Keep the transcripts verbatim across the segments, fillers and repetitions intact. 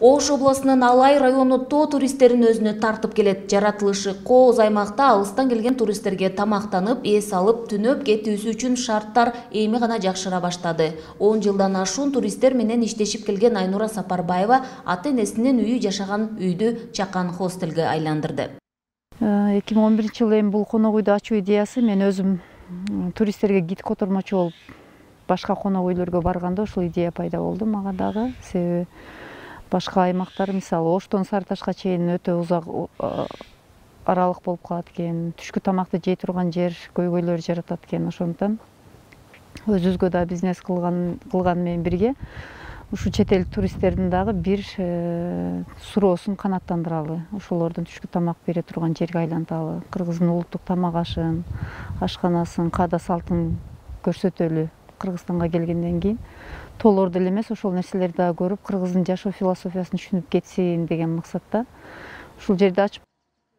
Ош областынын Алай району тоо туристтерин өзүнө тартып келет. Жаратылышы кооз аймакта алыстан келген туристтерге тамактанып, эс алып, түнөп кетүүсү үчүн шарттар эми гана жакшыра баштады. он жылдан ашуун туристтер менен иштешип келген Айнура Сапарбаева ата-энесинин үйү жашаган үйдү Чакан хостелге айландырды. эки миң он биринчи жылы эми бул конок үйдү ачуу идеясы мен өзүм туристтерге гид котормочу болуп башка конок үйлөргө барганда ушул идея пайда болду мага дагы. Себеби башка аймактар, мисалы Оштон Сары Ташка чейин өтө узак аралык болуп калат экен. Түшкү тамакты жей турган жер, көйгөйлөр жаратат экен. Ошондон өзүбүзгө да бизнес кылган кылган менен бирге ушу чет эл туристтердин дагы бир суроосун канааттандыралы. Ошолордун түшкү тамак бере турган жерге айланталы. Кыргыздын улуттук тамак ашын, ашканасын, каада салтын көрсөтөлү. Кыргызстанга келгенден кийин толор деле эмес, ошол нерселерди дагы көрүп, кыргыздын жашоо философиясын түшүнүп кетсин деген максатта ушул жерди ачып.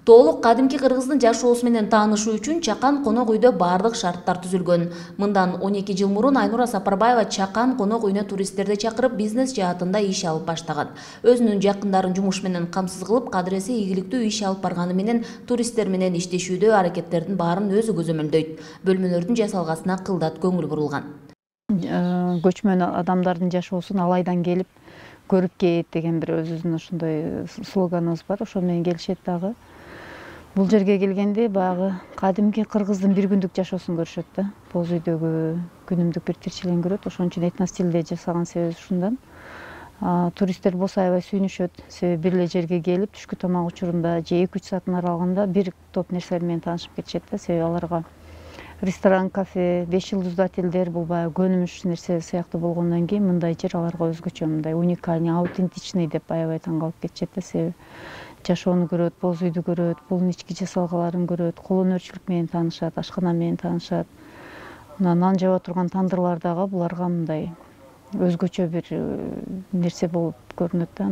Толук кадимки кыргыздын жашоосу менен таанышуу үчүн Чакан конок үйдө бардык шарттар түзүлгөн. Мындан он эки жыл мурун Айнура Сапарбаева Чакан конок үйүнө туристтерди чакырып, бизнес жаатында иш алып баштаган. Өзүнүн жакындарын жумуш менен камсыз кылып, кадыресе ийгиликтүү иш алып барганы менен туристтер менен иштешүүдө аракеттердин баарын өзү көзөмөлдөйт. Бөлмөлөрдүн жасалгасына кылдат көңүл бурулган. Көчмөн адамдардын жашоосун Алайдан келип көрүп кет деген бир өзүбүздүн ошондой слоганыбыз бар. Ошол менен келишет дагы. Бул жерге келгенде баягы кадимки кыргыздын бир күндүк жашоосун көрүшөт да. Боз үйдөгү күнүмдүк бир тирчилигин көрөт. Ошон үчүн этно стилде жасаган себеби ушундан. Туристтер болсо аябай сүйүнүшөт. Себеби бир эле жерге келип түшкү тамак учурунда же эки үч сааттын аралыгында бир топ нерселер менен таанышып кетишет да. Себеби аларга ресторан, кафе, беш жылдыздуу отелдер бул баягы көнүмүш нерсе сыяктуу болгондон кийин мындай жер аларга өзгөчө, мындай уникальный, аутентичный деп аябай таң калып кетишет да. Себеби жашоону көрөт, боз үйдү көрөт, булдун ички жасалгаларын көрөт, кол өнөрчүлүк менен таанышат, ашкана менен таанышат. Мына нан жаба турган тандырлар дагы буларга мындай өзгөчө бир нерсе болуп көрүнөт да.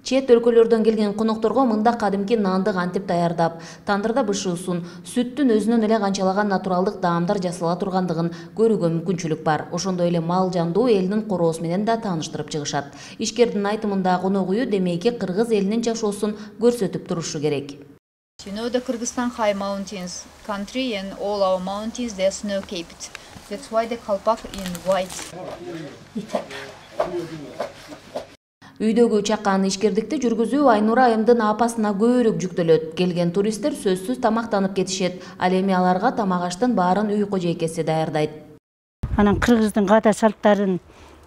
Чет өлкөлөрдөн келген конокторго мында кадимки нанды кантип даярдап, тандырда бышуусун, сүттүн өзүнөн эле канчалаган натуралдык даамдар жасала тургандыгын көрүүгө мүмкүнчүлүк бар. Ошондой эле мал жандуу элдин короосу менен да тааныштырып чыгышат. Ишкердин айтымында конок үйү демейки кыргыз элинин жашоосун көрсөтүп турушу керек. You know the Kyrgyzstan high mountains country and all our mountains they are snow capped. That's why the kalpak in white. Үйдөгү Чакан ишкердикти жүргүзүү Айнура айымдын апасына көбүрөөк жүктөлөт. Келген туристтер сөзсүз тамактанып кетишет. Ал эми аларга тамак аштын баарын үй кожойкеси даярдайт. Анан кыргыздын каада салттарын,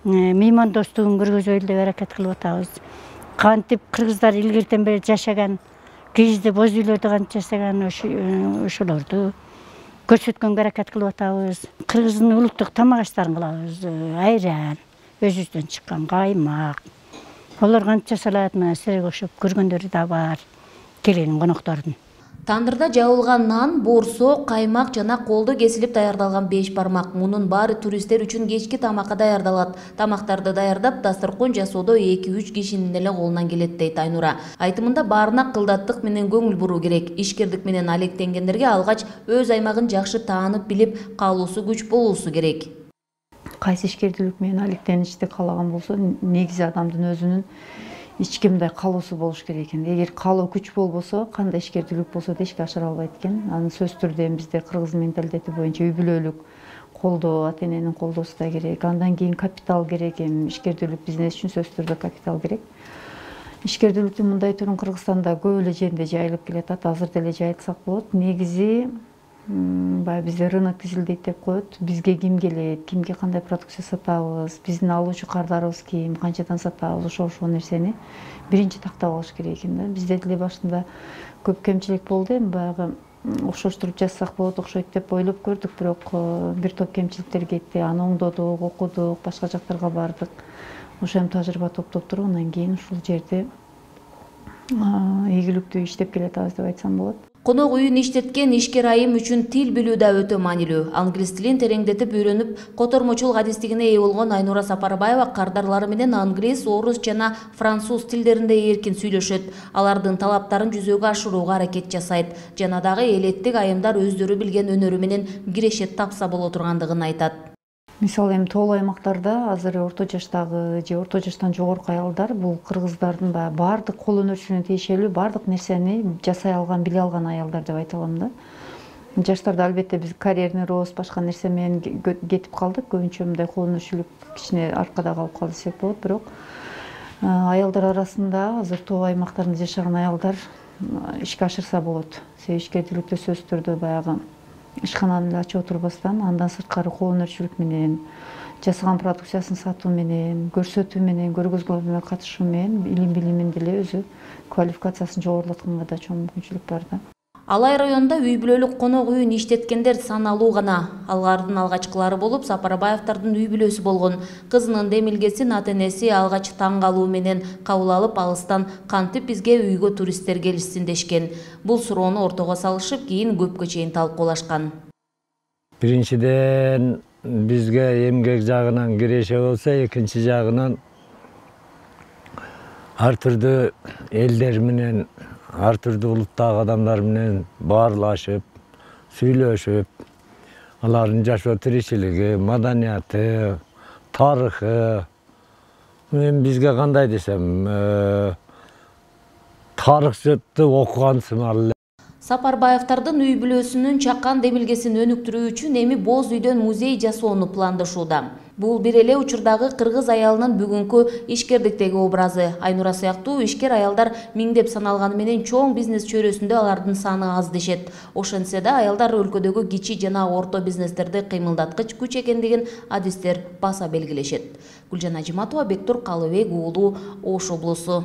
меймандостугун көргөзөлү деп аракет кылып атабыз. Кантип кыргыздар илгертен бери жашаган, кийизде боз үйлөрдө кантип жашаган ошолорду көрсөткөнгө аракет кылып атабыз. Кыргыздын улуттук тамак аштарын кылабыз. Айран, өзүбүздөн чыккан каймак. Олар кантип жасалат, мына силерге окшоп көргөндөрү да бар, келген коноктордун. Тандырда жабылган нан, борсо, каймак жана колдо кесилип даярдалган беш бармак. Мунун баары туристтер үчүн кечки тамакка даярдалат. Тамактарды даярдап, дасторкон жасоодо эки үч кишинин эле колунан келет дейт Айнура. Айтымында баарына кылдаттык менен көңүл буруу керек. Ишкердик менен алектенгендерге алгач өз аймагын жакшы таанып билип, каалоосу күч болуусу керек. Кайсы ишкердүүлүк менен алектеништи каалаган болсо, негизи адамдын өзүнүн ички мындай каалоосу болуш керек экен. Эгер каалоо күч болбосо, кандай ишкердүүлүк болсо да ишке ашыра албайт экен. Анын сөзсүз түрдө бизде кыргыз менталитети боюнча үй бүлөлүк колдоо, ата-эненин колдоосу да керек. Андан кийин капитал керек. Эми ишкердүүлүк бизнес үчүн сөзсүз түрдө капитал керек. Ишкердүүлүктүн мындай түрүн Кыргызстанда көп эле жеринде жайылып келатат. Азыр деле жайылтсак болот. Негизи баягы бизде рынок тизилдейт деп коет. Бизге ким келет, кимге кандай продукция сатабыз, биздин алуучу кардарыбыз ким, канчадан сатабыз, ошол ошол нерсени биринчи тактап алыш керек экен да. Бизде деле башында көп кемчилик болду, эми баягы окшоштуруп жазсак болот, окшойт деп ойлоп көрдүк, бирок бир топ кемчиликтер кетти. Аны оңдодук, окудук, башка жактарга бардык. Ошо эми тажрыйба топтоп туруп, андан кийин ушул жерде ийгиликтүү иштеп келатабыз деп айтсам болот. Конок үйүн иштеткен ишкер айым үчүн тил билүү да өтө маанилүү. Англис тилин тереңдетип үйрөнүп, котормочулук адистигине ээ болгон Айнура Сапарбаева кардарлары менен англис, орус жана француз тилдеринде эркин сүйлөшөт. Алардын талаптарын жүзөгө ашырууга аракет жасайт. Жана дагы элеттик айымдар өздөрү билген өнөрү менен кирешет тапса боло тургандыгын айтат. Мисалы эми тоолуу аймактарда азыр орто жаштагы же орто жаштан жогорку аялдар бул кыргыздардын баягы баардык кол өнөрчүлүгүнө тиешелүү баардык нерсени жасай алган, биле алган аялдар деп айта алам да. Жаштарда албетте биз карьерный рост, башка нерсе менен кетип калдык. Көбүнчө мындай кол өнөрчүлүк кичине аркада калып калды десек болот. Бирок аялдар арасында азыр тоо аймактарында жашаган аялдар ишке ашырса болот. Себеби ишкердүүлүктө сөзсүз түрдө баягы ишкананы эле ачып отурбастан, андан сырткары кол өнөрчүлүк менен, жасаган продукциясын сатуу менен, көрсөтүү менен, көргөзмөлөргө катышуу менен илим билимин деле өзү квалификациясын жогорулатканга да чоң мүмкүнчүлүк бар да. Алай районунда үй бүлөлүк конок үйүн иштеткендер саналуу гана. Алардын алгачкылары болуп Сапарбаевдардын үй бүлөсү болгон. Кызынын демилгесин ата-энеси алгач таң калуу менен кабыл алып, алыстан кантип бизге үйгө туристтер келишсин дешкен. Бул суроону ортого салышып, кийин көпкө чейин талкуулашкан. Биринчиден бизге эмгек жагынан киреше болсо, экинчи жагынан ар түрдүү элдер менен, ар түрдүү улуттагы адамдар менен баарлашып, сүйлөшүп, алардын жашоо тиричилиги, маданияты, тарыхы, эми бизге кандай десем, тарыхчытты окуган сымал. Сапарбаевдардын үй бүлөсүнүн чакан демилгесин өнүктүрүү үчүн эми боз үйдөн музей жасоону пландашууда. Бул бир эле учурдагы кыргыз аялынын бүгүнкү ишкердиктеги образы. Айнура сыяктуу ишкер аялдар миңдеп саналганы менен чоң бизнес чөйрөсүндө алардын саны аз дешет. Ошентсе да аялдар өлкөдөгү кичи жана орто бизнестерди кыймылдаткыч күч экендигин адистер баса белгилешет. Гүлжан Ажиматова, Бектур Калыбек уулу, Ош облусу.